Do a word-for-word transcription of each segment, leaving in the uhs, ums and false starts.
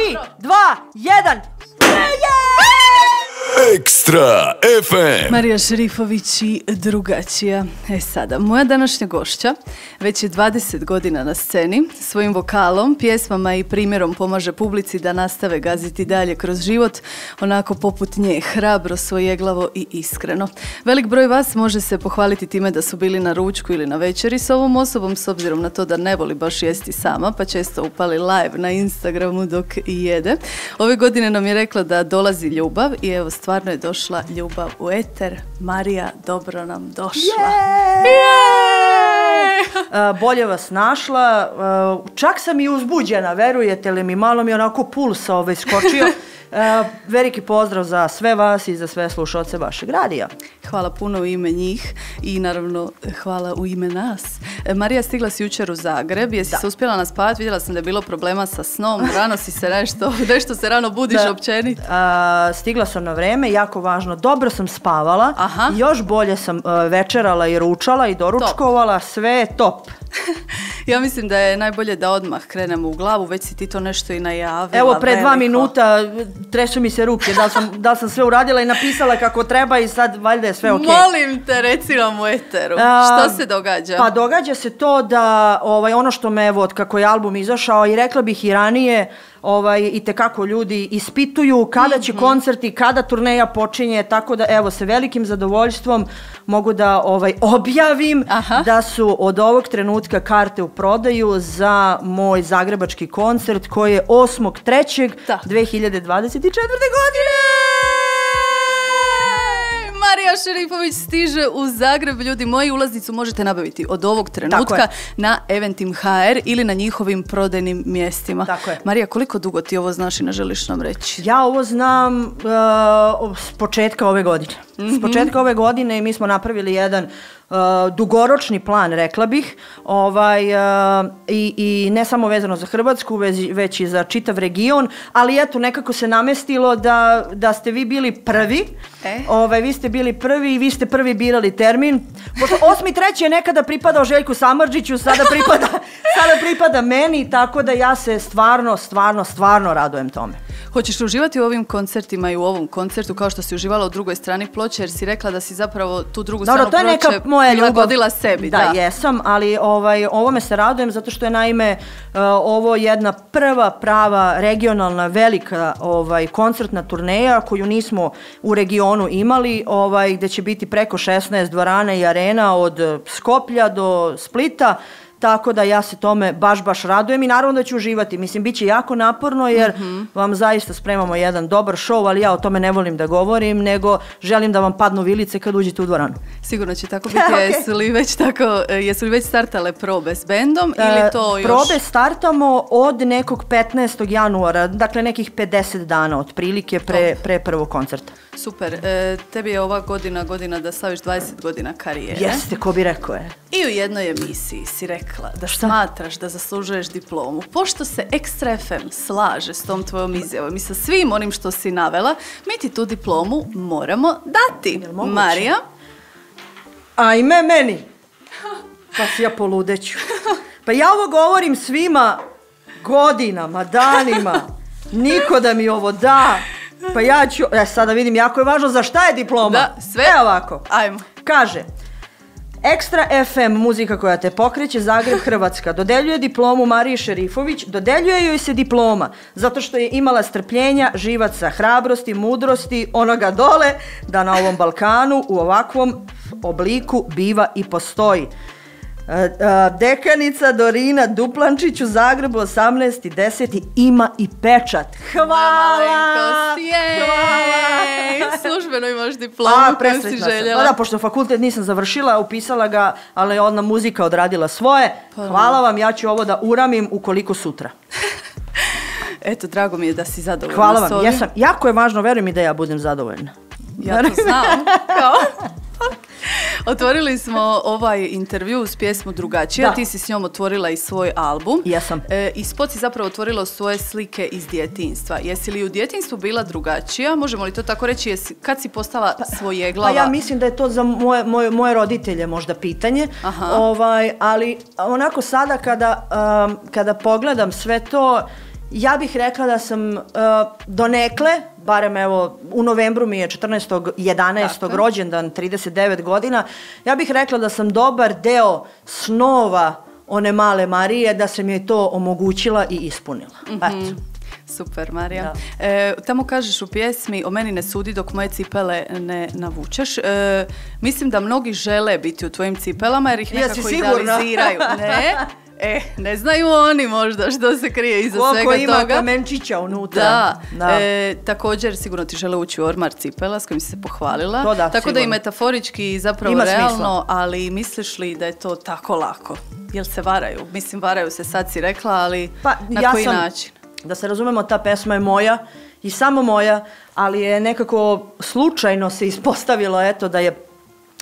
tri, dva, jedan. Ekstra ef em. Marija Šerifović i Drugačija. E sada, moja današnja gošća već je dvadeset godina na sceni. Svojim vokalom, pjesmama i primjerom pomaže publici da nastave gaziti dalje kroz život, onako poput nje, hrabro, svojeglavo i iskreno. Velik broj vas može se pohvaliti time da su bili na ručku ili na večeri s ovom osobom, s obzirom na to da ne voli baš jesti sama, pa često upali live na Instagramu dok i jede. Ove godine nam je rekla da dolazi ljubav i evo stvarno je došla ljubav u eter. Marija, dobro nam došla. Yeah! Yeah! Uh, bolje vas našla. Uh, čak sam i uzbuđena, verujete li mi, malo mi je onako puls ovaj skočio. Uh, veliki pozdrav za sve vas i za sve slušalce vašeg radija. Hvala puno u ime njih i naravno hvala u ime nas. E, Marija, stigla si jučer u Zagreb, jesi da. se uspjela naspavati? Vidjela sam da je bilo problema sa snom, rano si se nešto, nešto se rano budiš da. općenito. Uh, stigla sam na vreme, jako važno, dobro sam spavala, Aha. još bolje sam uh, večerala i ručala i doručkovala, top. Sve je top. Ja mislim da je najbolje da odmah krenemo u glavu, već si ti to nešto i najavila. Evo, pre veliko. dva minuta tresu mi se ruke, da li sam, da li sam sve uradila i napisala kako treba i sad valjda je sve okej. Okay. Molim te, reci nam u eteru, A, što se događa? Pa događa se to da ovaj, ono što me, evo, od kako je album izašao i rekla bih i ranije, ovaj, i tekako ljudi ispituju kada će mm-hmm. koncerti, kada turneja počinje, tako da evo sa velikim zadovoljstvom mogu da ovaj, objavim Aha. da su od ovog trenutka karte u prodaju za moj zagrebački koncert koji je osmog trećeg dve hiljade dvadeset četvrte. godine. Marija Šerifović stiže u Zagreb. Ljudi moji, ulaznicu možete nabaviti od ovog trenutka na Eventim ha er ili na njihovim prodajnim mjestima. Tako je. Marija, koliko dugo ti ovo znaš i ne želiš nam reći? Ja ovo znam uh, s početka ove godine. Mm-hmm. S početka ove godine mi smo napravili jedan uh, dugoročni plan, rekla bih, ovaj, uh, i, i ne samo vezano za Hrvatsku, već, već i za čitav region, ali eto, nekako se namestilo da, da ste vi bili prvi. E? Ovaj, vi ste bili prvi i vi ste prvi birali termin. Pošto osmi treći je nekada pripadao Željku Samardžiću, sada pripada, sada pripada meni, tako da ja se stvarno, stvarno, stvarno radujem tome. Hoćeš li uživati u ovim koncertima i u ovom koncertu kao što si uživala u drugoj strani ploče, jer si rekla da si zapravo tu drugu Dobro, stranu ploče prilagodila sebi. Da, da, jesam, ali ovaj, ovome se radujem zato što je naime uh, ovo jedna prva prava regionalna velika ovaj, koncertna turneja koju nismo u regionu imali, ovaj, gde će biti preko šesnaest dvorana i arena od Skoplja do Splita. Tako da ja se tome baš, baš radujem i naravno da ću uživati. Mislim, bit će jako naporno jer mm-hmm. vam zaista spremamo jedan dobar show, ali ja o tome ne volim da govorim, nego želim da vam padnu vilice kad uđete u dvoranu. Sigurno će tako biti. Okay. Jesu li već tako, jesu li već startale probe s bendom ili to još? Probe startamo od nekog petnaestog januara, dakle nekih pedeset dana otprilike pre, pre prvog koncerta. Super. E, tebi je ova godina godina da slaviš dvadeset godina karijere. Jeste, ko bi rekao je. I u jednoj emisiji si rekla da Šta? smatraš da zaslužuješ diplomu. Pošto se Ekstra ef em slaže s tom tvojom izjavom i sa svim onim što si navela, mi ti tu diplomu moramo dati. Marija? Ajme meni. Pa si ja poludeću. Pa ja ovo govorim svima godinama, danima. Niko da mi ovo da. Pa ja ću, e, sada vidim, jako je važno za šta je diploma. Da, sve. E ovako. Ajmo. Kaže, Ekstra ef em, muzika koja te pokreće, Zagreb, Hrvatska, dodeljuje diplomu Mariji Šerifović, dodeljuje joj se diploma zato što je imala strpljenja, živaca, hrabrosti, mudrosti, onoga dole, da na ovom Balkanu u ovakvom obliku biva i postoji. Dekanica Dorina Duplančić u Zagrebu osamnaesti deseti ima i pečat. Hvala! Hvala! Službeno imaš diplomu koju si željela. Da, pošto fakultet nisam završila, upisala ga, ali je ona muzika odradila svoje. Hvala vam, ja ću ovo da uramim ukoliko sutra. Eto, drago mi je da si zadovoljna. Hvala vam, ja sam, jako je važno, veruj mi da ja budem zadovoljna. Ja to znam. Kao... Otvorili smo ovaj intervju s pjesmu Drugačija, da. Ti si s njom otvorila i svoj album. Jesam. E, I spot si zapravo otvorila svoje slike iz djetinjstva. Jesi li u djetinjstvu bila drugačija? Možemo li to tako reći? Jesi, kad si postala pa, svojeglava? Pa ja mislim da je to za moje, moje, moje roditelje možda pitanje. Ovaj, ali onako sada kada, um, kada pogledam sve to, Ja bih rekla da sam uh, donekle, barem evo u novembru mi je četrnaestog jedanaestog rođendan, trideset devet godina, ja bih rekla da sam dobar deo snova one male Marije, da sam joj to omogućila i ispunila. Mm-hmm. Eto. Super, Marija. E, tamo kažeš u pjesmi o meni ne sudi dok moje cipele ne navučeš. E, mislim da mnogi žele biti u tvojim cipelama jer ih nekako idealiziraju. Ne? E, ne znaju oni možda što se krije iza Koliko svega ima toga. kamenčića unutra. Da. da. E, također sigurno ti žele ući u ormar cipela s kojim si se pohvalila. To da, tako sigurno. Da i metaforički zapravo ima realno, smisla. Ali misliš li da je to tako lako? Jel se varaju? Mislim, varaju se, sad si rekla, ali pa, na ja koji sam, način? Da se razumemo, ta pesma je moja i samo moja, ali je nekako slučajno se ispostavilo eto da je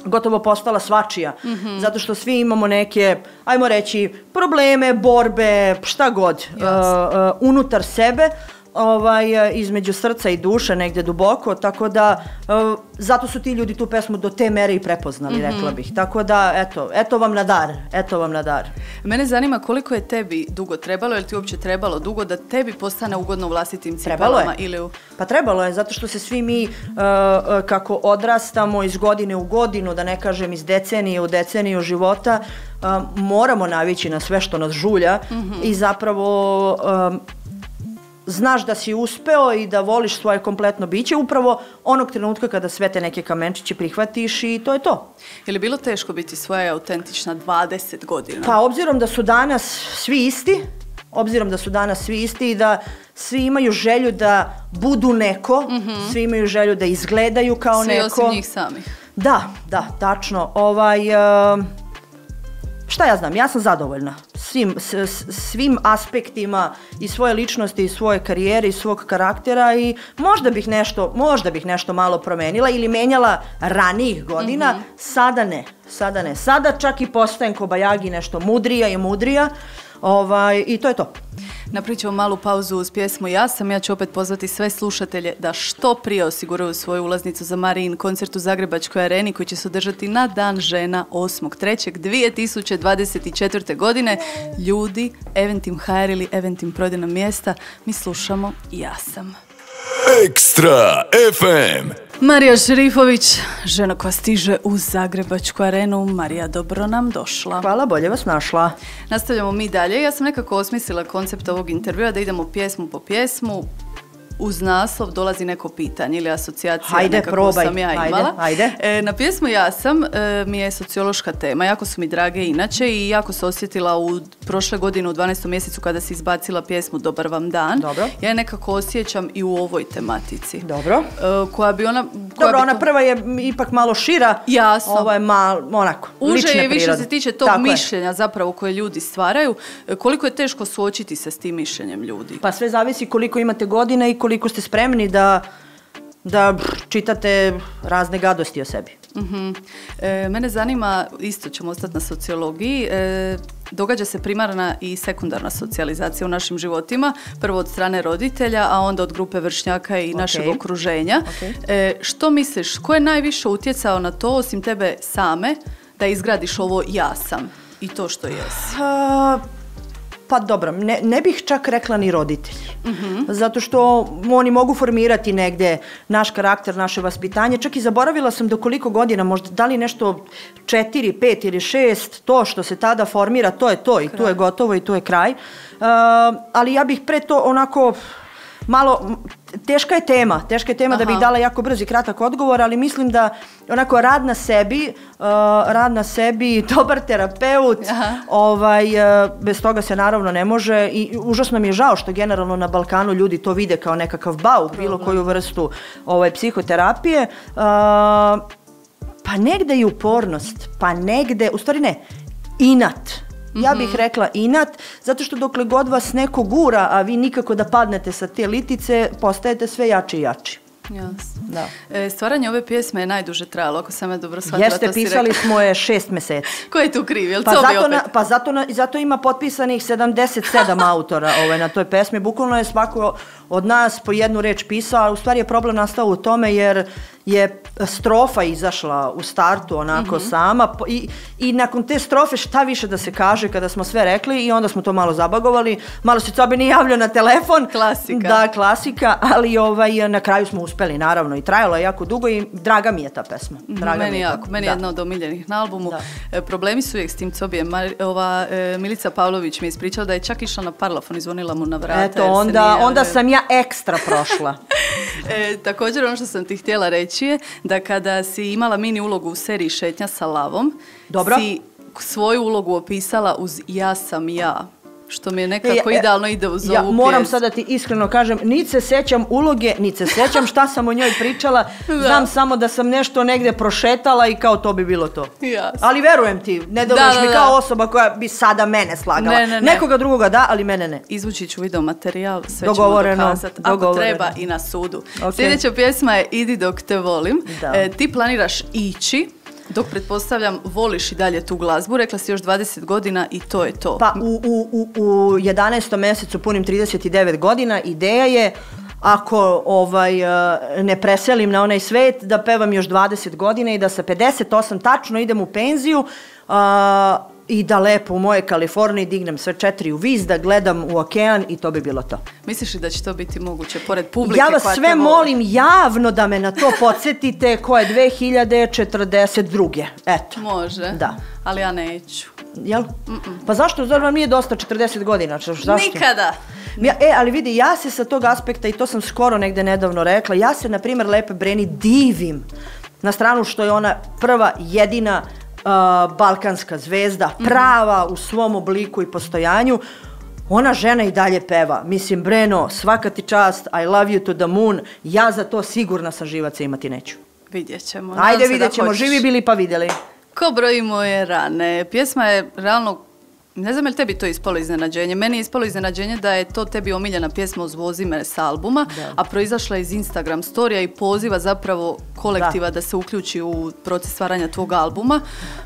gotovo postala svačija, mm-hmm. zato što svi imamo neke, ajmo reći, probleme, borbe, šta god, uh, uh, unutar sebe, ovaj, između srca i duše, negdje duboko, tako da uh, zato su ti ljudi tu pesmu do te mere i prepoznali, mm-hmm. rekla bih. Tako da, eto, eto vam na dar, eto vam na dar. Mene zanima koliko je tebi dugo trebalo, je li ti uopće trebalo dugo da tebi postane ugodno u vlastitim cipelama? Ili u... Pa trebalo je, zato što se svi mi uh, uh, kako odrastamo iz godine u godinu, da ne kažem iz decenije u deceniju života, uh, moramo navići na sve što nas žulja, mm-hmm. i zapravo um, znaš da si uspeo i da voliš svoje kompletno biće upravo onog trenutka kada sve te neke kamenčiće prihvatiš i to je to. Je li bilo teško biti svoja autentična dvadeset godina? Pa obzirom da su danas svi isti, obzirom da su danas svi isti i da svi imaju želju da budu neko, mm-hmm. svi imaju želju da izgledaju kao svi neko. Svi osim njih samih. Da, da, tačno. Ovaj... Uh, Šta ja znam, ja sam zadovoljna svim, s, svim aspektima i svoje ličnosti i svoje karijere i svog karaktera i možda bih nešto, možda bih nešto malo promenila ili menjala ranijih godina, mm-hmm. sada ne, sada ne. Sada čak i postajem kobajagi nešto mudrija i mudrija, ovaj, i to je to. Napričamo malu pauzu uz pjesmu Ja sam. Ja ću opet pozvati sve slušatelje da što prije osiguraju svoju ulaznicu za Marijin koncert u Zagrebačkoj areni koji će se održati na Dan žena osmog trećeg dvije tisuće dvadeset četvrte. godine. Ljudi, Eventim ha er ili Eventim prodajna mjesta, mi slušamo Ja sam. Ekstra ef em. Marija Šerifović, žena koja stiže u Zagrebačku arenu. Marija, dobro nam došla. Hvala, bolje vas našla. Nastavljamo mi dalje. Ja sam nekako osmislila koncept ovog intervjua da idemo pjesmu po pjesmu. Uz naslov dolazi neko pitanje ili asocijacija, hajde, nekako probaj. sam ja Hajde, imala. hajde. E, na pjesmu Ja sam e, mi je sociološka tema, jako su mi drage inače i jako se osjetila u prošle godine u dvanaestom mjesecu kada si izbacila pjesmu Dobar vam dan. Dobro. Ja je nekako osjećam i u ovoj tematici. Dobro. E, koja bi ona... Koja Dobro, bi ona to... prva je ipak malo šira. Jasno. Ovo je malo, onako, Uže lične je više prirode. se tiče tog Tako mišljenja je. zapravo koje ljudi stvaraju. E, koliko je teško suočiti se s tim mišljenjem ljudi? Pa sve zavisi koliko imate godina i koliko ste spremni da, da čitate razne gadosti o sebi. Uh-huh. E, mene zanima, isto ćemo ostati na sociologiji, e, događa se primarna i sekundarna socijalizacija u našim životima, prvo od strane roditelja, a onda od grupe vršnjaka i okay. našeg okruženja. Okay. E, što misliš, ko je najviše utjecao na to, osim tebe same, da izgradiš ovo ja sam i to što jesi? Uh, Pa dobro, ne, ne bih čak rekla ni roditelji. Mm-hmm. Zato što oni mogu formirati negdje naš karakter, naše vaspitanje. Čak i zaboravila sam do koliko godina, možda da li nešto četiri, pet ili šest, to što se tada formira, to je to i kraj. Tu je gotovo i tu je kraj. Uh, ali ja bih pre to onako... Malo, teška je tema, teška je tema Aha. da bih dala jako brz i kratak odgovor, ali mislim da onako rad na sebi, uh, rad na sebi, dobar terapeut, ovaj, uh, bez toga se naravno ne može i užasno mi je žao što generalno na Balkanu ljudi to vide kao nekakav bauk, Problem. bilo koju vrstu ovaj, psihoterapije. Uh, pa negde i upornost, pa negde, u stvari ne, inat. Ja bih rekla inat, zato što dokle god vas neko gura, a vi nikako da padnete sa te litice, postajete sve jači i jači. Jasno. Da. E, stvaranje ove pjesme je najduže trajalo, ako sam je dobro shvatila. Jeste, pisali smo je šest mjeseci. Ko je tu kriv? Jel pa, to zato opet? Na, pa zato, na, zato ima potpisanih sedamdeset sedam autora ovaj, na toj pesmi. Bukvalno je svako od nas po jednu reč pisao, a u stvari je problem nastao u tome jer je strofa izašla u startu onako mm-hmm. sama i, i nakon te strofe šta više da se kaže kada smo sve rekli i onda smo to malo zabagovali, malo se Cobe nije javljao na telefon. Klasika. Da, klasika, ali ovaj, na kraju smo uspeli naravno i trajalo je jako dugo i draga mi je ta pesma. Draga meni mi je jako, ta, meni je jedna od omiljenih na albumu. Da. Problemi su uvijek s tim Cobijem. Ova e, Milica Pavlović mi je ispričala da je čak išla na parlafon i zvonila mu na vrata. Eto, onda, onda sam ja ekstra prošla. e, također ono što sam ti htjela reći je da kada si imala mini ulogu u seriji Šetnja sa lavom, Dobro. si svoju ulogu opisala uz ja sam ja. Što mi je nekako e, idealno ide uz ja ovu moram pjesmu. sada ti iskreno kažem, niti se sećam uloge, niti se sećam šta sam o njoj pričala, znam samo da sam nešto negdje prošetala i kao to bi bilo to. Jasno. Ali verujem ti, ne dobiš mi kao osoba koja bi sada mene slagala. Ne, ne, ne. Nekoga drugoga da, ali mene ne. Izvući ću video materijal, sve dogovoreno, ćemo dokazati. Ako dogovoreno. treba i na sudu. Okay. Sljedeća pjesma je Idi dok te volim. E, ti planiraš ići, dok pretpostavljam voliš i dalje tu glazbu, rekla si još dvadeset godina i to je to. Pa u, u, u, u jedanaestom mjesecu punim trideset devet godina, ideja je ako ovaj, ne preselim na onaj svet da pevam još dvadeset godina i da sa pedeset osam tačno idem u penziju uh, i da lepo u moje Kaliforniji dignem sve četiri u vis, da gledam u okean i to bi bilo to. Misliš li da će to biti moguće, pored publike? Ja vas koja sve molim javno da me na to podsjetite koje je dve hiljade četrdeset druge. Eto. Može, da. Ali ja neću. Jel? Mm-mm. Pa zašto? Zar vam nije dosta četrdeset godina? Zašto? Nikada. Ja, e, ali vidi, ja se sa tog aspekta, i to sam skoro negde nedavno rekla, ja se, na primjer, Lepe Breni divim na stranu što je ona prva, jedina uh, balkanska zvezda, prava u svom obliku i postojanju. Ona žena i dalje peva. Mislim, Breno, svaka ti čast, I love you to the moon, ja za to sigurna sam živaca imati neću. Vidjet ćemo. Ajde, vidjet ćemo, živi bili pa vidjeli. Ko broji moje rane. Pjesma je realno, ne znam je li tebi to ispalo iznenađenje. Meni je ispalo iznenađenje da je to tebi omiljena pjesma uz Vozi me s albuma, da. A proizašla je iz Instagram storija i poziva zapravo kolektiva da, da se uključi u proces stvaranja tvog albuma.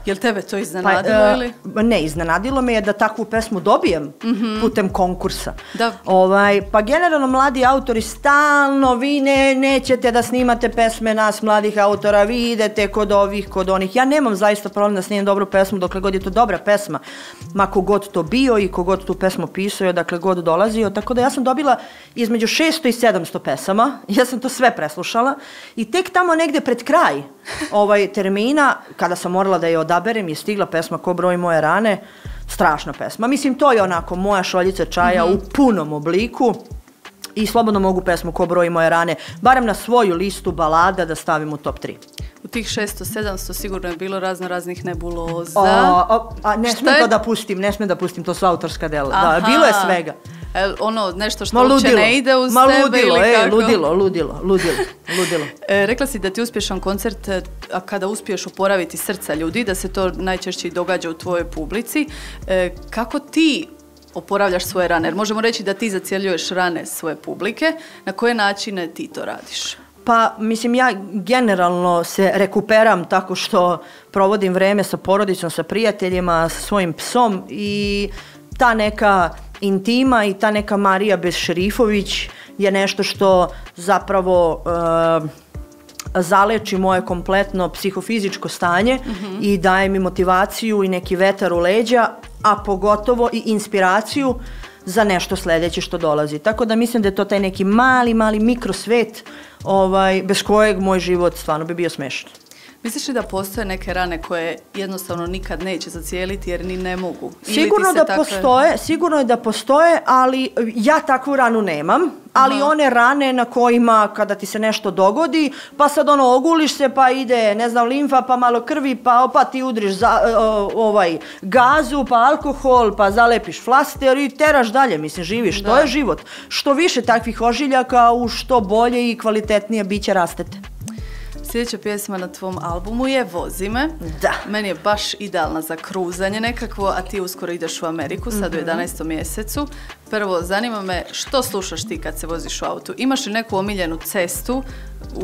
Je li tebe to iznenadilo pa, ili? Uh, ne, iznenadilo me je da takvu pesmu dobijem mm-hmm. putem konkursa. Da. Ovaj, pa generalno mladi autori stalno, vi ne, nećete da snimate pesme nas mladih autora, vi idete kod ovih, kod onih. Ja nemam zaista problem da snimam dobru pesmu dokle god je to dobra pesma. Ma kogod to bio i kogod tu pesmu pisao, odakle god dolazio. Tako da ja sam dobila između šesto i sedamsto pesama. Ja sam to sve preslušala i tek tamo negde pred kraj ovaj termina, kada sam morala da je odaberem, je stigla pesma Ko broji moje rane. Strašna pesma. Mislim, to je onako moja šoljica čaja mm-hmm. u punom obliku i slobodno mogu pesmu Ko broji moje rane, barem na svoju listu balada da stavim u top tri. U tih šesto sedamsto sigurno je bilo razno raznih nebuloza. O, o, a ne smijem to da pustim, ne smijem da pustim, to su autorska dela. Da, bilo je svega. E, ono, nešto što uopće ne ide uz ma tebe ludilo, ili e, kako? ludilo, ludilo, ludilo, ludilo. E, rekla si da ti uspješan koncert, a kada uspiješ oporaviti srca ljudi, da se to najčešće događa u tvojoj publici. E, kako ti oporavljaš svoje rane? Jer možemo reći da ti zacjeljuješ rane svoje publike. Na koje načine ti to radiš? Pa, mislim, ja generalno se rekuperam tako što provodim vreme sa porodicom, sa prijateljima, sa svojim psom i ta neka intima i ta neka Marija bez Šerifović je nešto što zapravo uh, zaleči moje kompletno psihofizičko stanje mm-hmm. i daje mi motivaciju i neki vetar u leđa, a pogotovo i inspiraciju za nešto sljedeće što dolazi. Tako da mislim da je to taj neki mali, mali mikrosvet ovaj, bez kojeg moj život stvarno bi bio smešan. Misliš li da postoje neke rane koje jednostavno nikad neće zacijeliti jer ni ne mogu? Sigurno da takve... postoje, sigurno je da postoje, ali ja takvu ranu nemam, ali uh-huh. one rane na kojima kada ti se nešto dogodi, pa sad ono oguliš se, pa ide, ne znam, limfa, pa malo krvi, pa pa ti udriš za, uh, ovaj gazu, pa alkohol, pa zalepiš flaster i teraš dalje, mislim, živiš. Da. To je život. Što više takvih ožiljaka, u što bolje i kvalitetnije biće rastete. Sljedeća pjesma na tvom albumu je Vozi me. Da. Meni je baš idealna za kruzanje nekakvo, a ti uskoro ideš u Ameriku, sad mm-hmm. u jedanaestom mjesecu. prvo, zanima me što slušaš ti kad se voziš u autu? Imaš li neku omiljenu cestu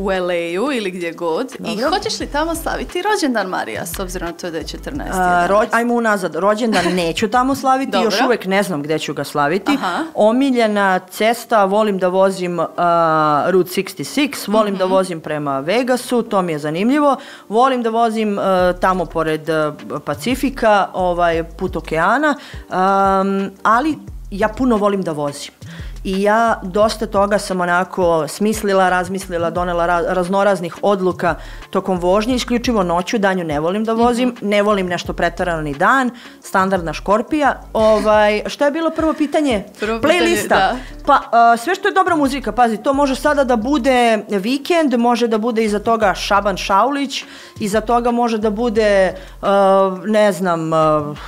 u el ej-u ili gdje god? Dobro. I hoćeš li tamo slaviti rođendan Marija, s obzirom na to da je četrnaesti? Ro- ajmo unazad, rođendan neću tamo slaviti, Dobro. još uvijek ne znam gdje ću ga slaviti. Aha. Omiljena cesta, volim da vozim uh, Route šezdeset šest, volim mm-hmm. da vozim prema Vegasu, to mi je zanimljivo. Volim da vozim uh, tamo pored uh, Pacifika, ovaj, put okeana, um, ali ja puno volim da vozim. I ja dosta toga sam onako smislila, razmislila, donela ra- raznoraznih odluka tokom vožnje, isključivo noću, danju ne volim da vozim, mm-hmm. ne volim nešto pretarano ni dan, standardna škorpija. Ovaj, šta je bilo prvo pitanje? Prvo Playlista. pitanje, da. Pa uh, sve što je dobra muzika, pazi, to može sada da bude Vikend, može da bude iza toga Šaban Šaulić, iza toga može da bude, uh, ne znam... Uh,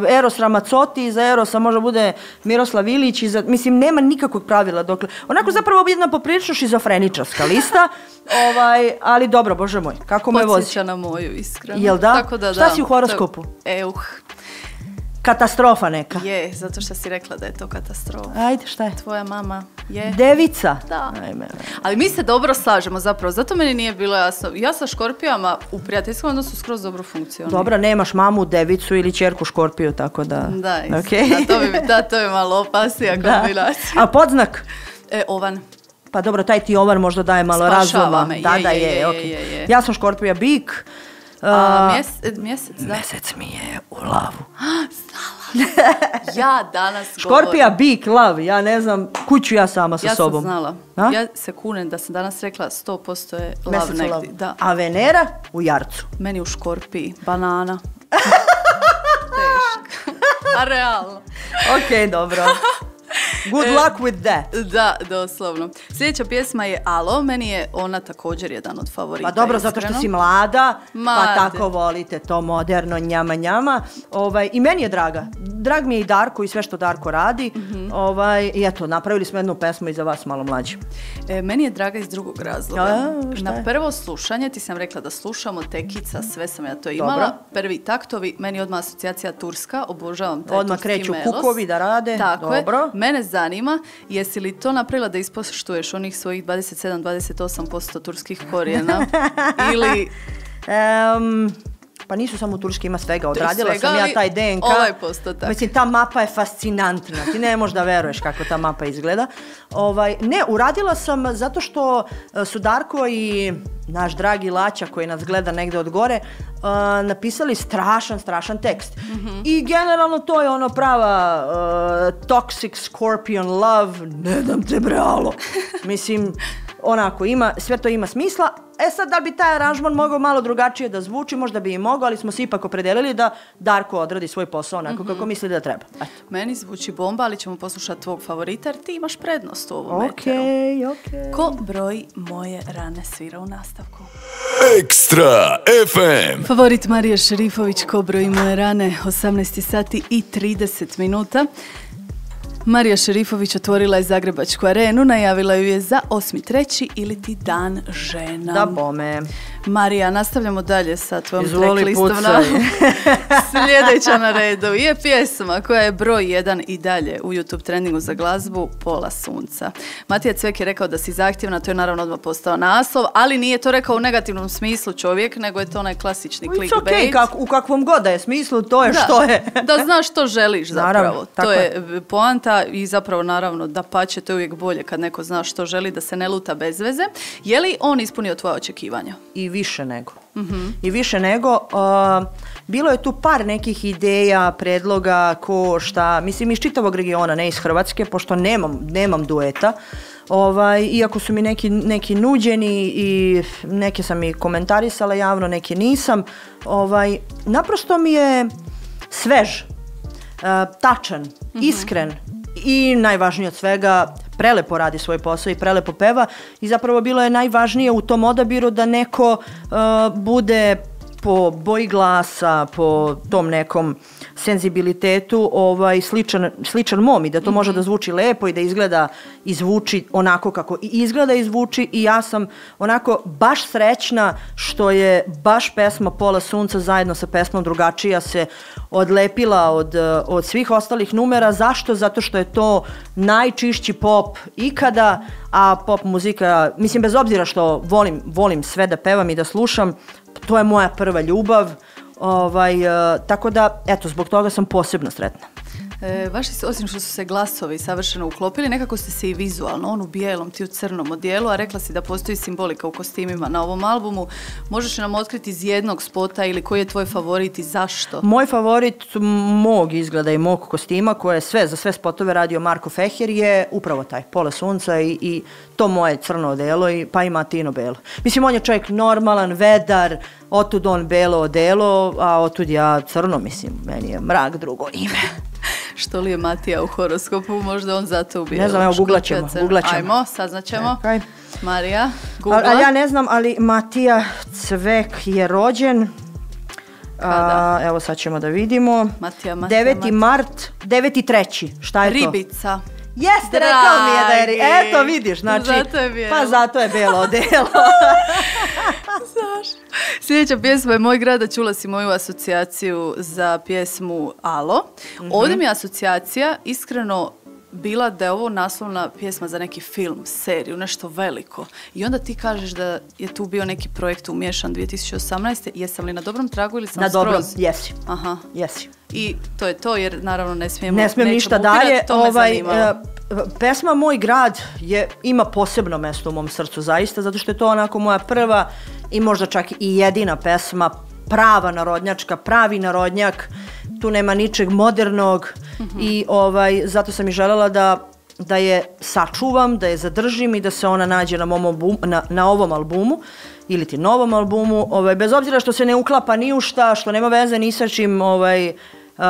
Eros Ramazzotti, iza Erosa može bude Miroslav Ilić, iza, mislim nema nikakvog pravila, dokle, onako zapravo jedna poprilično šizofreničarska lista, ovaj, ali dobro, bože moj, kako me vozi. Podsjeća na moju, iskreno. Jel da? Tako da, šta da. si u horoskopu? Euh. Katastrofa neka. Je, zato što si rekla da je to katastrofa. Ajde, šta je? Tvoja mama je... Devica. Da. Ajme. Ali mi se dobro slažemo zapravo, zato meni nije bilo jasno. Ja sa škorpijama u prijateljskom odnosu skroz dobro funkcionira. Dobro, nemaš mamu, devicu ili ćerku škorpiju, tako da... Da, okay. da, to bi, da, to je malo opasnija kombinacija. A podznak? E, ovan. Pa dobro, taj ti ovan možda daje malo Spašava razuma. me, Da, je, da, je, je, je, okay. je, je. Ja sam škorpija bik. A, mjese, mjesec, da. Mjesec mi je u lavu. Ja danas Škorpija, govorim. bik, lav, ja ne znam, kuću ja sama sa Ja sobom. sam znala. A? Ja se kunem da sam danas rekla sto posto je lav Mjesec u negdje. lavu. Da. A Venera u jarcu. Meni u škorpiji. Banana. Teško. A realno. Ok, dobro. Good luck with that. Da, doslovno. Sljedeća pjesma je Alo, meni je ona također jedan od favorita. Pa dobro, zato što iskreno. si mlada, Mlade. pa tako volite to moderno njama njama. Ovaj, I meni je draga. Drag mi je i Darko i sve što Darko radi. Mm-hmm. Ovaj, I eto, napravili smo jednu pesmu i za vas malo mlađi. E, meni je draga iz drugog razloga. A, šta Na je? prvo slušanje ti sam rekla da slušamo Tekica, sve sam ja to imala. Dobro. Prvi taktovi, meni odmah asocijacija Turska, obožavam taj Odmah turski kreću melos. kukovi da rade. Tako Dobro. je. Mene zanima, jesi li to napravila da ispoštuješ onih svojih dvadeset sedam do dvadeset osam posto turskih korijena? Ili... Um, pa nisu samo turski, ima svega. Odradila svega, sam ja ali taj de en ka. ovaj postotak. Mislim, ta mapa je fascinantna. Ti ne možeš da veruješ kako ta mapa izgleda. Ovaj, ne, uradila sam zato što su Darko i naš dragi Laća koji nas gleda negde od gore uh, napisali strašan, strašan tekst. Mm-hmm. I generalno to je ono prava uh, toxic scorpion love, ne dam te bralo. Mislim, onako, ima, sve to ima smisla. E sad, da bi taj aranžman mogao malo drugačije da zvuči, možda bi i mogao, ali smo se ipak opredelili da Darko odradi svoj posao onako mm-hmm. kako misli da treba. Eto. Meni zvuči bomba, ali ćemo poslušati tvog favorita, jer ti imaš prednost u ovom Ok, meteru. ok. Ko broji moje rane svira u nastavku? Ekstra ef em. Favorit Marije Šerifović, Ko broji moje rane, osamnaest sati i trideset minuta. Marija Šerifović otvorila je Zagrebačku arenu, najavila ju je za osmi treći ili ti dan žena. Da bome. Marija, nastavljamo dalje sa tvojom Izvoli, tracklistom. pucaj. Sljedeća na redu je pjesma koja je broj jedan i dalje u YouTube trendingu za glazbu, Pola sunca. Matija Cvek je rekao da si zahtjevna, to je naravno odmah postao naslov, ali nije to rekao u negativnom smislu čovjek, nego je to onaj klasični It's clickbait. ok, kak, u kakvom god da je smislu, to je Da, što je. da znaš što želiš zapravo. Naravno, tako to je poanta i zapravo naravno da pače, to je uvijek bolje kad neko zna što želi, da se ne luta bez veze. Je li on ispunio tvoja očekivanja? I više nego. Mm-hmm. I više nego. Uh, bilo je tu par nekih ideja, predloga, ko šta, mislim iz čitavog regiona, ne iz Hrvatske, pošto nemam, nemam dueta. Ovaj, iako su mi neki, neki nuđeni i neke sam i komentarisala javno, neke nisam. Ovaj, naprosto mi je svež, uh, tačan, mm-hmm. iskren i najvažnije od svega, prelepo radi svoj posao i prelepo peva i zapravo bilo je najvažnije u tom odabiru da neko uh, bude po boji glasa, po tom nekom senzibilitetu ovaj, sličan, sličan mom i da to mm-hmm. može da zvuči lepo i da izgleda i zvuči onako kako i izgleda i zvuči i ja sam onako baš srećna što je baš pesma Pola sunca zajedno sa pesmom Drugačija se odlepila od, od svih ostalih numera. Zašto? Zato što je to najčišći pop ikada, a pop muzika, mislim bez obzira što volim, volim sve da pevam i da slušam, to je moja prva ljubav, ovaj, tako da, eto, zbog toga sam posebno sretna. E, vaši, osim što su se glasovi savršeno uklopili, nekako ste se i vizualno, on u bijelom, ti u crnom odijelu, a rekla si da postoji simbolika u kostimima na ovom albumu. Možeš nam otkriti iz jednog spota ili koji je tvoj favorit i zašto? Moj favorit mog izgleda i mog kostima, koje je sve, za sve spotove radio Marko Feher, je upravo taj, Pola sunca i, i to moje crno odelo, i, pa i Matino belo. Mislim, on je čovjek normalan, vedar, otud on belo odelo, a otud ja crno, mislim, meni je mrak drugo ime. Što li je Matija u horoskopu, možda on zato ubije. Ne znam, evo, googlat ćemo, googlat ćemo. Ajmo, saznaćemo. Okay. Marija, googla. Ali ja ne znam, ali Matija Cvek je rođen. A, evo sad ćemo da vidimo. Matija, Matija, deveti Matija. mart, deveti treći Šta je Ribica. to? Ribica. Jeste, rekao mi je da je ribica. Eto, vidiš, znači. Zato je bijelo. Pa zato je bijelo odelo. Znaš. Sljedeća pjesma je Moj grad, a čula si moju asocijaciju za pjesmu Alo. Mm-hmm. Ovdje mi je asocijacija iskreno bila da je ovo naslovna pjesma za neki film, seriju, nešto veliko. I onda ti kažeš da je tu bio neki projekt umiješan dvije tisuće osamnaeste Jesam li na dobrom tragu ili sam na skroz? Na dobrom, jesi. Aha. Jesi. I to je to, jer naravno ne smijemo... Ne smijem ništa bukirat, dalje. To me ovaj, zanimalo. Pesma Moj grad je, ima posebno mjesto u mom srcu, zaista, zato što je to onako moja prva i možda čak i jedina pesma, prava narodnjačka, pravi narodnjak, tu nema ničeg modernog mm-hmm. i ovaj, zato sam i željela da, da je sačuvam, da je zadržim i da se ona nađe na, mom albumu, na, na ovom albumu ili ti novom albumu, ovaj, bez obzira što se ne uklapa ni u šta, što nema veze ni sa čim, ovaj, Uh,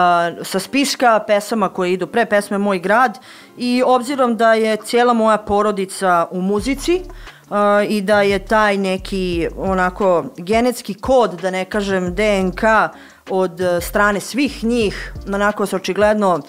sa spiska pesama koje idu pre pesme Moj grad, i obzirom da je cijela moja porodica u muzici uh, i da je taj neki onako genetski kod, da ne kažem D N K, od strane svih njih onako se očigledno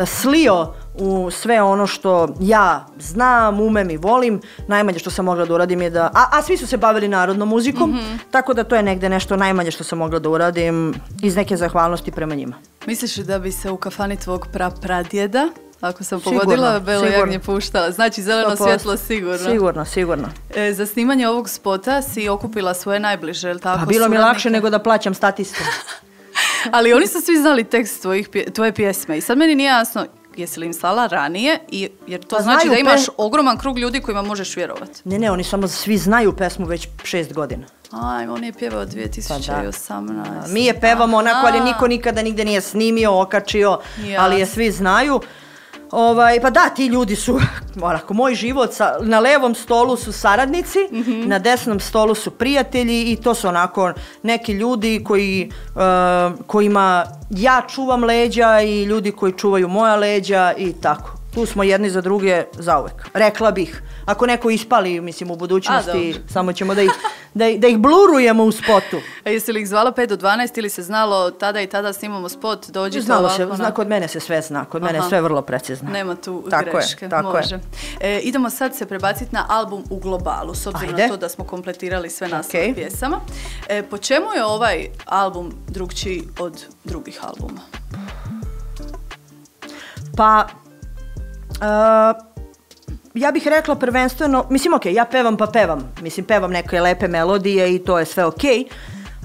slio u sve ono što ja znam, umem i volim. Najmanje što sam mogla da uradim je da... A, a svi su se bavili narodnom muzikom, mm-hmm. tako da to je negde nešto najmanje što sam mogla da uradim iz neke zahvalnosti prema njima. Misliš da bi se u kafani tvog prapradjeda, ako sam pogodila, Belo jagnje puštala? Znači zeleno svjetlo sigurno. Sigurno, sigurno. E, za snimanje ovog spota si okupila svoje najbliže, je li tako? Pa bilo mi lakše nego da plaćam statistu. Ali oni su svi znali tekst tvojih, tvoje pjesme i sad meni nije jasno jesi li im slala ranije, i, jer to pa znači da imaš pe... ogroman krug ljudi kojima možeš vjerovati. Ne, ne, oni samo svi znaju pesmu već šest godina. Aj, on je pjevao dvije tisuće osamnaeste. Pa da. Mi je pevamo onako, ali niko nikada nigde nije snimio, okačio, ja. ali je svi znaju. Ovaj, pa da, ti ljudi su, onako, moj život, sa, na levom stolu su saradnici, mm-hmm. na desnom stolu su prijatelji i to su onako neki ljudi koji, uh, kojima ja čuvam leđa i ljudi koji čuvaju moja leđa i tako. Tu smo jedni za druge zauvek. Rekla bih, ako neko ispali, mislim, u budućnosti, A, samo ćemo da ih, da, da ih blurujemo u spotu. A jesi li ih zvala pet do dvanaest ili se znalo tada i tada snimamo spot, dođite Znalo ovako? se, zna, kod mene se sve zna, kod Aha. mene je sve vrlo precizno. Nema tu tako greške, je, tako može. Je. E, idemo sad se prebaciti na album u globalu, s obzirom Ajde. na to da smo kompletirali sve naslove okay. pjesama. E, po čemu je ovaj album drugčiji od drugih albuma? Pa... Uh, ja bih rekla prvenstveno, mislim ok, ja pevam pa pevam, mislim pevam neke lepe melodije i to je sve ok,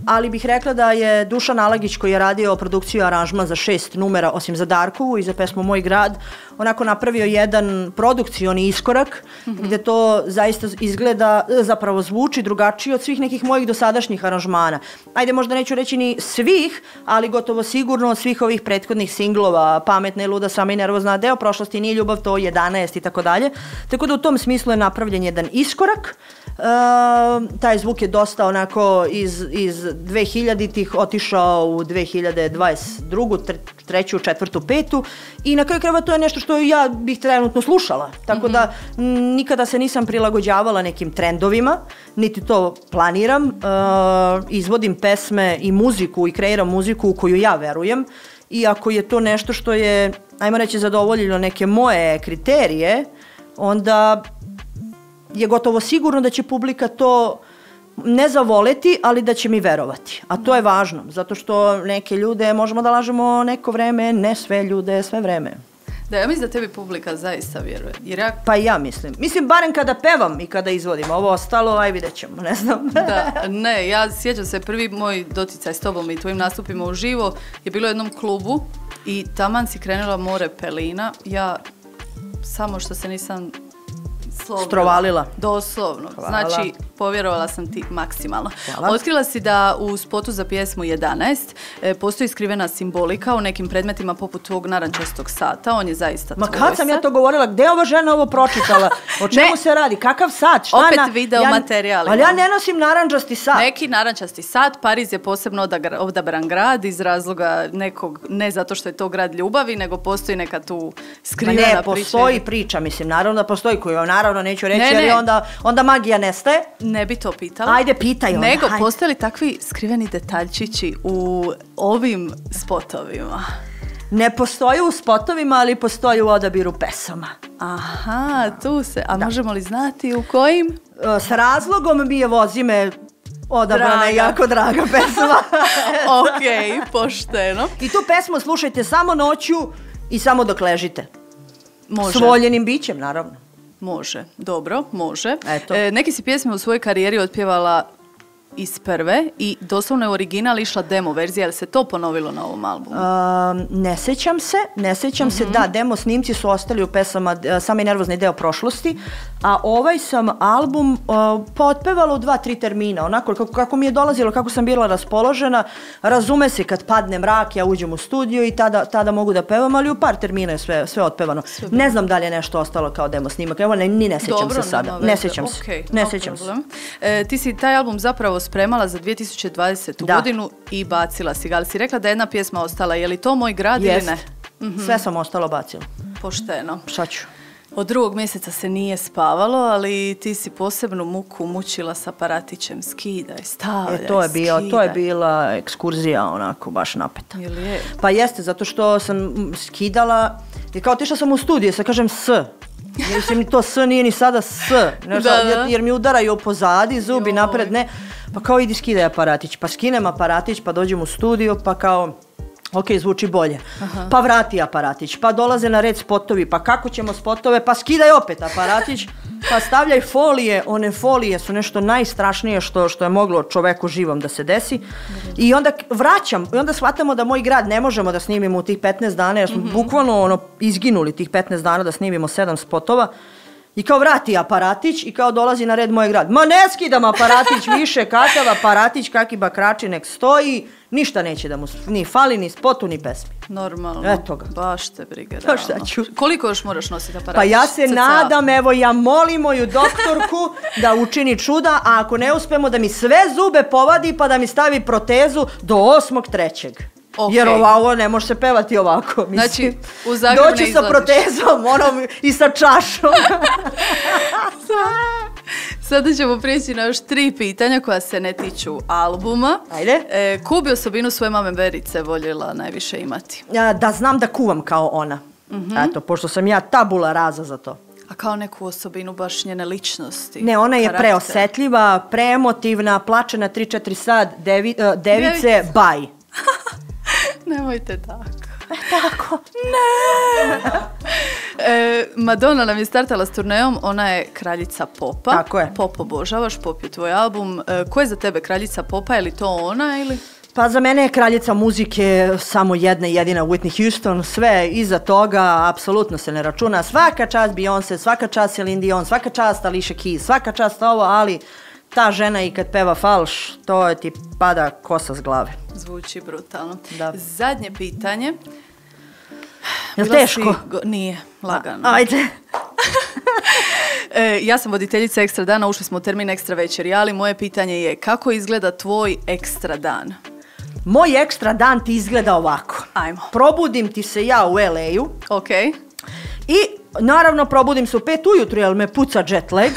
ali bih rekla da je Dušan Alagić, koji je radio produkciju i aranžman za šest numera, osim za Darkovu i za pesmu Moj grad, onako napravio jedan produkcioni iskorak, mm-hmm. gdje to zaista izgleda, zapravo zvuči drugačije od svih nekih mojih dosadašnjih aranžmana. Ajde, možda neću reći ni svih, ali gotovo sigurno od svih ovih prethodnih singlova, Pametna i luda, Sama i nervozna, Deo prošlosti, Nije ljubav to, jedanaest i tako dalje. Tako da u tom smislu je napravljen jedan iskorak. Uh, taj zvuk je dosta onako iz, iz dvehiljaditih otišao u dve hiljade dvadeset drugu, treću, četvrtu, petu i na kraju krajeva to je nešto što ja bih trenutno slušala. Tako mm-hmm. da m, nikada se nisam prilagođavala nekim trendovima, niti to planiram. Uh, izvodim pesme i muziku i kreiram muziku u koju ja verujem i ako je to nešto što je, ajmo reći, zadovoljilo neke moje kriterije, onda je gotovo sigurno da će publika to ne zavoleti, ali da će mi verovati. A to je važno, zato što neke ljude možemo da lažemo neko vreme, ne sve ljude, sve vreme. Da, ja mislim da tebi publika zaista vjeruje. Jer ja... Pa ja mislim. Mislim, barem kada pevam i kada izvodim. Ovo ostalo, aj vidjet ćemo, ne znam. Da, ne, ja sjećam se, prvi moj doticaj s tobom i tvojim nastupima uživo je bilo u jednom klubu i taman si krenula more pelina. Ja samo što se nisam slovila. Strovalila. Doslovno. Hvala. Znači, povjerovala sam ti maksimalno. Hvala. Otkrila si da u spotu za pjesmu jedanaest e, postoji skrivena simbolika u nekim predmetima poput tvog narančastog sata. On je zaista Ma tvoj kad sam sat. ja to govorila, gdje je ova žena ovo pročitala? O čemu Ne. se radi? Kakav sat? Šta Opet na... video ja... materijal Ali ja imam. ne nosim narančasti sat. Neki narančasti sat, Pariz je posebno odagra- odabran grad iz razloga nekog, ne zato što je to grad ljubavi, nego postoji neka tu Ma skrivena ne, priča. postoji priča, mislim, naravno da postoji, koju naravno neću reći, Ne, jer ne. je onda, onda magija nestaje. Ne bi to pitala. Ajde, pitaj onda, Nego, ajde. postoje li takvi skriveni detaljčići u ovim spotovima? Ne postoji u spotovima, ali postoji u odabiru pesama. Aha, tu se. A možemo li znati u kojim? E, S razlogom mi je Vozime odabrana Draga. i jako draga pesma. Ok, pošteno. I tu pesmu slušajte samo noću i samo dok ležite. Može. S voljenim bićem, naravno. Može, dobro, može. Eto. E, neki si pjesme u svojoj karijeri otpjevala iz prve i doslovno je original išla demo verzija, ali se to ponovilo na ovom albumu? Um, ne sećam se, ne sećam se, da, demo snimci su ostali u pesama uh, Sami nervozni deo prošlosti, a ovaj sam album uh, pa otpevala u dva, tri termina, onako kako, kako mi je dolazilo, kako sam bila raspoložena, razume se kad padne mrak, ja uđem u studio i tada, tada mogu da pevam, ali u par termina je sve, sve otpevano. Ne znam da li je nešto ostalo kao demo snimak, evo ne, ni ne sećam Dobro, se sada, nema ne veze. sećam se, Ok, ne no sećam se. problem. E, ti si taj album zapravo spremala za dvije tisuće dvadesetu Da. godinu i bacila si ga, ali si rekla da je jedna pjesma ostala. Je li to Moj grad Jest. ili ne? Sve sam ostalo bacila. Pošteno. Šta ću? Od drugog mjeseca se nije spavalo, ali ti si posebnu muku mučila sa aparatićem. Skidaj, stavljaj, E, to je bio, to je skidaj. bila ekskurzija onako baš napeta. Ili je? Pa jeste, zato što sam mm, skidala i kao otišla sam u studiju, sad kažem S. Jer se mi to S nije ni sada S. Ne, Da, jer, da. jer mi udaraju pozadi, zubi Joj. napred, ne. Pa kao idi skidaj aparatić. Pa skinem aparatić, pa dođem u studio, pa kao... Ok, zvuči bolje. Pa vrati aparatić, pa dolaze na red spotovi, pa kako ćemo spotove, pa skidaj opet aparatić, pa stavljaj folije, one folije su nešto najstrašnije što, što je moglo čoveku živom da se desi. I onda k- vraćam, i onda shvatamo da Moj grad ne možemo da snimimo u tih petnaest dana, jer smo bukvalno ono, izginuli tih petnaest dana da snimimo sedam spotova. I kao vrati aparatić i kao dolazi na red Moj grad. Ma ne skidam aparatić više, kakav aparatić, kaki bakrači nek stoji, ništa neće da mu s- ni fali, ni spotu, ni pesmi. Normalno. Eto ga. Baš te briga. Pa šta realno. ću? Koliko još moraš nositi aparatić? Pa ja se Cca. nadam, evo ja molim moju doktorku da učini čuda, a ako ne uspemo da mi sve zube povadi pa da mi stavi protezu do osmog trećeg. Ok. Jer ovo ne može se pevati ovako. Mislim. Znači, u Zagreb ne doći sa izlaziš. protezom onom, i sa čašom. Sada ćemo prijeći na još tri pitanja koja se ne tiču albuma. Ajde. E, koju bi osobinu svoje mame Verice voljela najviše imati? Ja, da znam da kuvam kao ona. Eto, pošto sam ja tabula raza za to. A kao neku osobinu baš njene ličnosti? Ne, ona je karakter? preosetljiva, preemotivna, plače na tri četiri sat, devi, uh, device, Device. baj. Nemojte tako. Tako. E, Madonna nam je startala s turnejom, ona je kraljica popa. Tako je. Pop obožavaš, pop je tvoj album. E, ko je za tebe kraljica popa, je li to ona ili? Pa za mene je kraljica muzike samo jedna jedina Whitney Houston, sve iza toga apsolutno se ne računa. Svaka čast Beyoncé, svaka čast Celine Dion, svaka čast Alicia Keys, svaka čast ovo, ali ta žena i kad peva falš, to je ti pada kosa s glave. Zvuči brutalno. Da. Zadnje pitanje. Jel Bila teško? si go- Nije, lagano. Ajde. E, ja sam voditeljica Ekstra dana, ušli smo u termin Ekstra večeri, ali moje pitanje je kako izgleda tvoj ekstra dan? Moj ekstra dan ti izgleda ovako. Ajmo. Probudim ti se ja u el ej-u Ok. i naravno probudim se u pet ujutru jer me puca jet lag.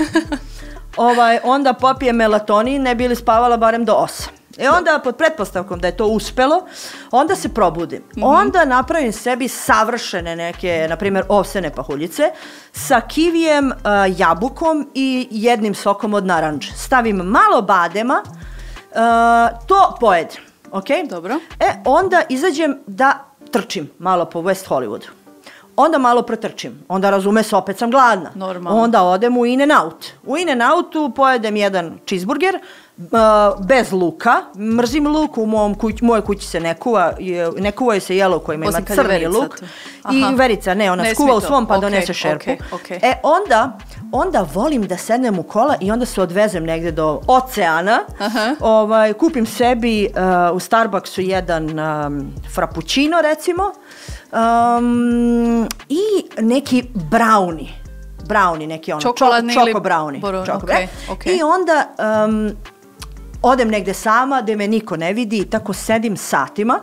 ovaj, onda popijem melatonin, ne bi li spavala barem do osam. E onda, pod pretpostavkom da je to uspelo, onda se probudim. Mm-hmm. Onda napravim sebi savršene neke, na primjer, ovsene pahuljice sa kivijem, uh, jabukom i jednim sokom od naranđe. Stavim malo badema, uh, to pojedem. Ok? Dobro. E, onda izađem da trčim malo po West Hollywoodu. Onda malo protrčim. Onda razume se, opet sam gladna. Normalno. Onda odem u In-N-Out. U In-N-Outu pojedem jedan cheeseburger, Uh, bez luka. Mrzim luk, u mom kuć, moje kući se ne kuva, ne kuvaju se jelo kojima ima crni luk. I Verica, ne, ona ne skuva u svom pa okay, donese šerpu. Okay, okay. E, onda, onda volim da sednem u kola i onda se odvezem negde do oceana. Uh-huh. Ovaj, kupim sebi uh, u Starbucksu jedan um, frappuccino, recimo, um, i neki brownie. Brownie, neki ono, čokoladni čoko, ili... čoko brownie. Boro, čoko, okay, okay. I onda um, odem negde sama, gde me niko ne vidi i tako sedim satima.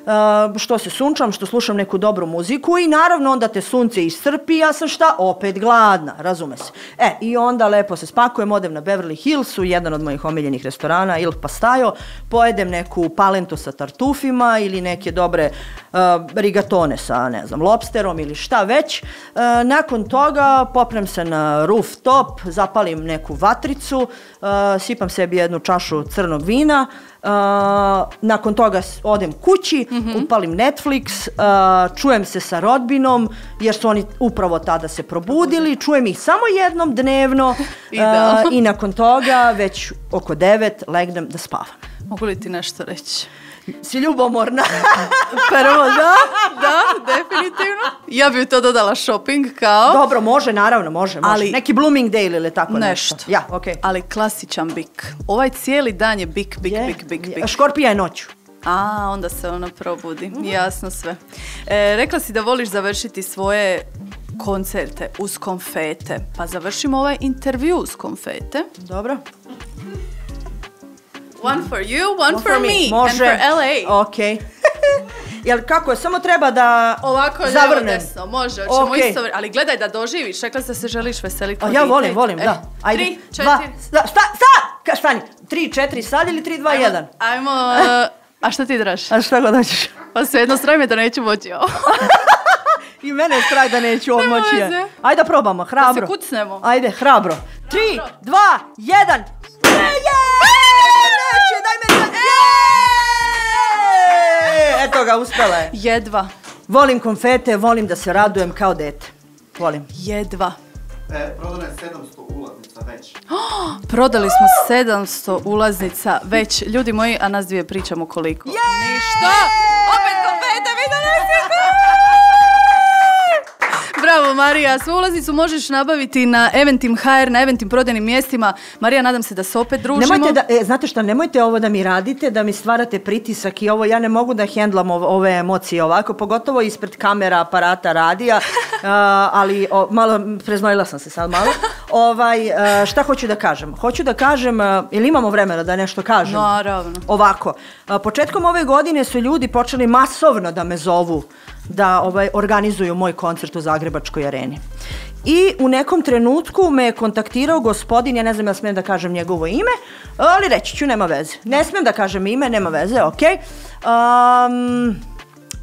Uh, što se sunčam, što slušam neku dobru muziku i naravno onda te sunce iscrpi, ja sam šta? Opet gladna, razume se. E, i onda lepo se spakujem, odem na Beverly Hillsu, jedan od mojih omiljenih restorana, Il Pastajo, pojedem neku palentu sa tartufima ili neke dobre uh, rigatone sa, ne znam, lobsterom ili šta već. Uh, nakon toga popnem se na rooftop, zapalim neku vatricu, uh, sipam sebi jednu čašu crnog vina, Uh, nakon toga odem kući, mm-hmm. upalim Netflix, uh, čujem se sa rodbinom, jer su oni upravo tada se probudili, čujem ih samo jednom dnevno uh, i nakon toga već oko devet legnem da spavam. Mogu li ti nešto reći? Si ljubomorna. Prvo, da, da, definitivno. Ja bih to dodala shopping kao... Dobro, može, naravno, može, može. Ali, neki Bloomingdale ili tako nešto. Nešto. Ja, okej. Okay. Ali klasičan bik. Ovaj cijeli dan je bik, bik, je, bik, bik, bik. Škorpija je noću. A, onda se ona probudi. Mm-hmm. Jasno sve. E, rekla si da voliš završiti svoje koncerte uz konfete. Pa završimo ovaj intervju uz konfete. Dobro. One for you, one, one for, for me, me. Može. And for L A. Ok. Jel kako je, samo treba da ovako zavrnem. Lijevo desno, može, hoćemo okay. isto, ali gledaj da doživiš, rekla da se želiš veseliti. Ja volim, volim, e, da. Ajde. Tri, četiri. Dva, sta, sta, sta, stani, tri, četiri sad ili tri, dva, jedan? Ajmo, a šta ti draž? A šta god hoćeš? Pa svejedno straj me da neću moći ovo. I mene je strah da neću ovo moći. Ajde da probamo, hrabro. Da se kucnemo. Ajde, hrabro. Tri, dva, jedan. Neće, daj me da... Eto ga, uspela je. Jedva. Volim konfete, volim da se radujem kao dete. Volim. Jedva. E, prodano je sedamsto ulaznica već. Oh, prodali smo sedamsto ulaznica već. Ljudi moji, a nas dvije pričamo koliko. Je! Ništa! Opet konfete, vi donesite! Bravo Marija, svu ulaznicu možeš nabaviti na Eventim punkt ha er, na Eventim prodajnim mjestima. Marija, nadam se da se opet družimo. Nemojte da, e, znate šta, nemojte ovo da mi radite, da mi stvarate pritisak i ovo, ja ne mogu da hendlam ove, ove emocije ovako, pogotovo ispred kamera, aparata, radija, uh, ali o, malo, preznojila sam se sad malo. Ovaj, uh, šta hoću da kažem? Hoću da kažem, uh, ili imamo vremena da nešto kažem? Naravno. Ovako, uh, početkom ove godine su ljudi počeli masovno da me zovu da ovaj, organizuju moj koncert u Zagrebačkoj areni. I u nekom trenutku me je kontaktirao gospodin, ja ne znam ja smijem da kažem njegovo ime, ali reći ću, nema veze. Ne smijem da kažem ime, nema veze, ok. Um,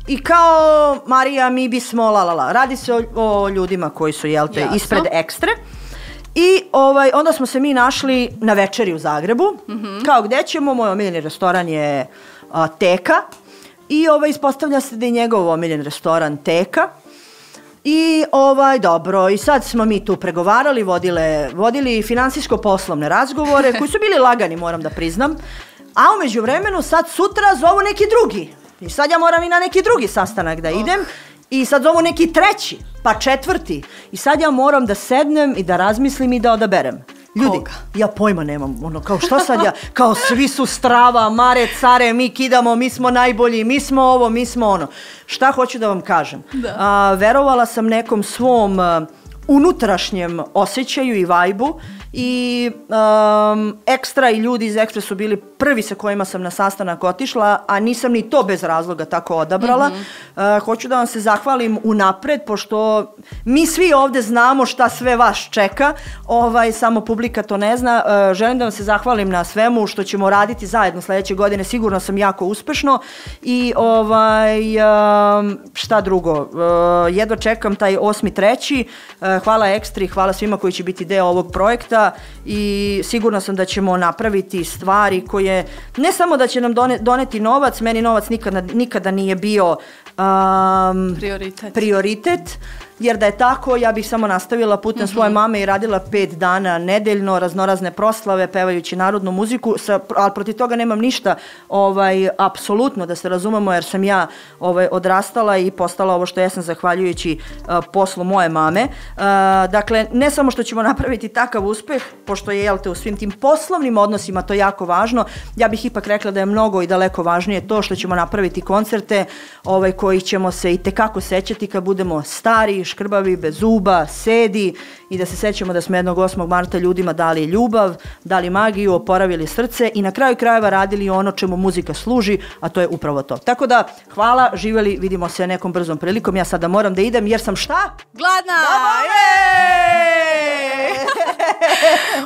I kao, Marija, mi bismo, la la la, radi se o, o ljudima koji su, jel te, ispred Ekstre. I ovaj, onda smo se mi našli na večeri u Zagrebu. Mm-hmm. Kao gde ćemo, moj omiljeni restoran je a, Teka. I ovaj, ispostavlja se da je njegov omiljen restoran Teka. I ovaj, dobro, i sad smo mi tu pregovarali, vodile, vodili finansijsko-poslovne razgovore, koji su bili lagani, moram da priznam. A u međuvremenu sad sutra zovu neki drugi. I sad ja moram i na neki drugi sastanak da idem. I sad zovu neki treći, pa četvrti. I sad ja moram da sednem i da razmislim i da odaberem. Ljudi, koga? Ja pojma nemam, ono, kao šta sad ja, kao svi su strava, mare, care, mi kidamo, mi smo najbolji, mi smo ovo, mi smo ono. Šta hoću da vam kažem? Da. A, verovala sam nekom svom a, unutrašnjem osjećaju i vajbu i um, Ekstra i ljudi iz Ekstra su bili prvi sa kojima sam na sastanak otišla, a nisam ni to bez razloga tako odabrala. Mm-hmm. Uh, hoću da vam se zahvalim unapred, pošto mi svi ovde znamo šta sve vas čeka, ovaj, samo publika to ne zna. Uh, želim da vam se zahvalim na svemu što ćemo raditi zajedno sledeće godine, sigurno sam jako uspešno i ovaj, um, šta drugo, uh, jedva čekam taj osmi treći. Uh, hvala Ekstri, hvala svima koji će biti deo ovog projekta i sigurna sam da ćemo napraviti stvari koje ne samo da će nam done, doneti novac, meni novac nikada, nikada nije bio um, prioritet. prioritet, jer da je tako, ja bih samo nastavila putem mm-hmm. svoje mame i radila pet dana nedeljno, raznorazne proslave, pevajući narodnu muziku, sa, ali protiv toga nemam ništa, ovaj, apsolutno, da se razumemo, jer sam ja ovaj, odrastala i postala ovo što jesam zahvaljujući uh, poslu moje mame. Uh, dakle, ne samo što ćemo napraviti takav uspeh, pošto je, jel te, u svim tim poslovnim odnosima to jako važno, ja bih ipak rekla da je mnogo i daleko važnije to što ćemo napraviti koncerte ovaj, koji ćemo se i tekako sećati kad budemo stari, škrbavi, bez zuba, sedi i da se sećamo da smo jednog osmog marta ljudima dali ljubav, dali magiju, oporavili srce i na kraju krajeva radili ono čemu muzika služi, a to je upravo to. Tako da, hvala, živjeli, vidimo se nekom brzom prilikom. Ja sada moram da idem jer sam šta? Gladna!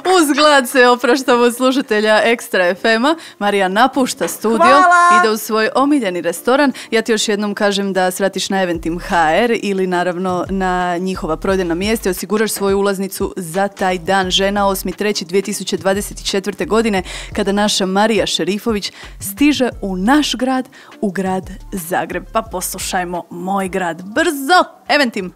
Uz glad se opraštamo slušatelja Ekstra ef ema. Marija napušta studio, hvala! ide u svoj omiljeni restoran. Ja ti još jednom kažem da svratiš na Eventim ha er ili naravno na njihova prodajna mjesta i osiguraš svoju ulaznicu za taj dan. Žena, osmi treći dvije tisuće dvadeset četvrte. godine, kada naša Marija Šerifović stiže u naš grad, u grad Zagreb. Pa poslušajmo Moj grad. Brzo! Eventim!